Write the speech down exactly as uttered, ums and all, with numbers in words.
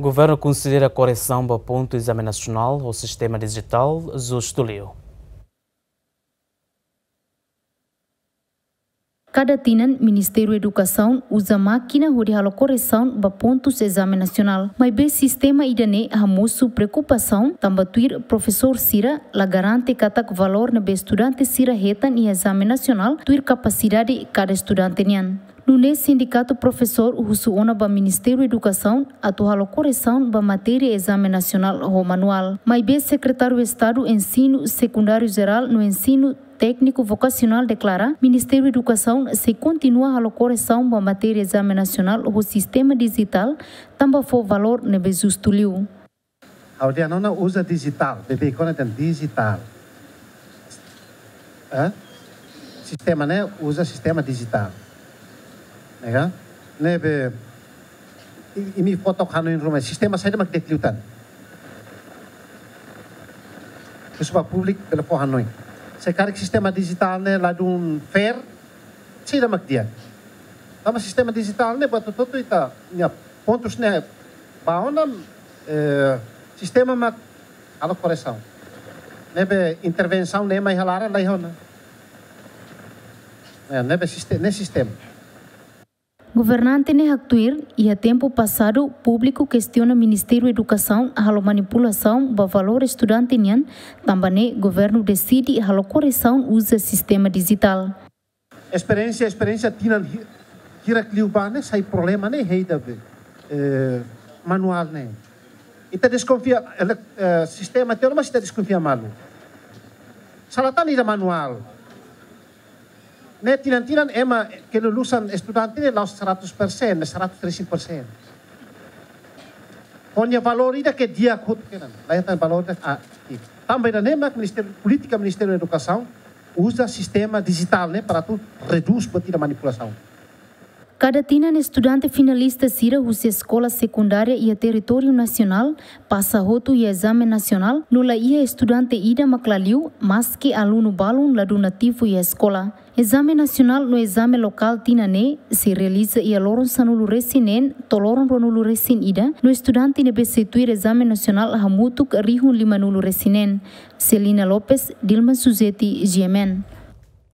Governu konsidera koresaun ba pontu ezame nasionál ho sistema dijitál justu liu. Kada tinan, Ministériu Edukasaun uza mákina hodi halo koresaun ba pontus ezame nasionál. Maibé sistema ida-ne'e hamosu preokupasaun, tanba tuir profesór sira la garante katak valór ne'ebé estudante sira hetan iha ezame nasionál tuir kapasidade kada estudante nian. Nune'e sindikatu profesór husu ona ba Ministériu Edukasaun atu halo koresaun ba matéria ezame nasionál ho manuál. Maibé Sekretáriu Estadu Ensinu Sekundáriu Jerál no Ensinu Tékniku Vokasionál deklara, Ministériu Edukasaun sei kontinua halo koresaun ba matéria ezame nasionál ho sistema dijitál, tanba fó valór ne'ebé justu liu. Ha'u dehan ona uza dijitál, beibeik ona dehan dijitál. Eh? Sistema ne'e uza sistema dijitál. Ne'e ka? Ne'ebé, i-, imi fó took hanoin ruma, sistema saida mak di'ak liután. Husu ba públiku bele fó hanoin. Se karik sistema dijitál ne'e ladún fair, saida mak di'ak. Tanba sistema dijitál ne'e buat hotu-hotu ita-nia pontus ne'e ba ona, eh, sistema mak halo koresaun. Ne'ebé intervensaun ne'e mai halaran la iha ona. Eh, ne'ebé siste-, ne'e sistema. Governante ne'e haktuir, iha tempu pasadu, públiku kestiona Ministériu Edukasaun halo manipulasaun ba valór estudante nian, tanba ne'e governu deside halo koresaun uza sistema dijitál. Esperiénsia, esperiénsia tinan hi-, hirak liubá ne'e sai problema ne'e iha ida be, eh, manuál ne'e. Ita deskonfia, ele-, eh, sistema tiha ona, mas ita deskonfia malu. Sala tan ida manuál. Ne'e tinan-tinan ema kelulusan estudante ne'e la'ós seratus persen, ne'e seratus três persen. Ho nia valór ida ke di'ak hotu kedan. La iha tan valór ida, ah, i tanba ida-ne'e mak Ministériu, polítika Ministériu Edukasaun uza sistema dijitál ne'e para atu redús buat ida manipulasaun. Kada tinan estudante finalista sira husi eskola sekundária iha territóriu nasionál pasa hotu iha ezame nasionál, no la iha estudante ida mak la liu, maski alunu balun ladún ativu iha eskola. Ezame nasionál no ezame lokál tinan ne'e sei realiza iha loron sanulu-resin-neen to'o loron ruanulu-resin-ida, no estudante ne'ebé sei tuir ezame nasionál hamutuk rihun limanulu-resin-neen. Celina Lopes, Dilma Suzeti, G M N.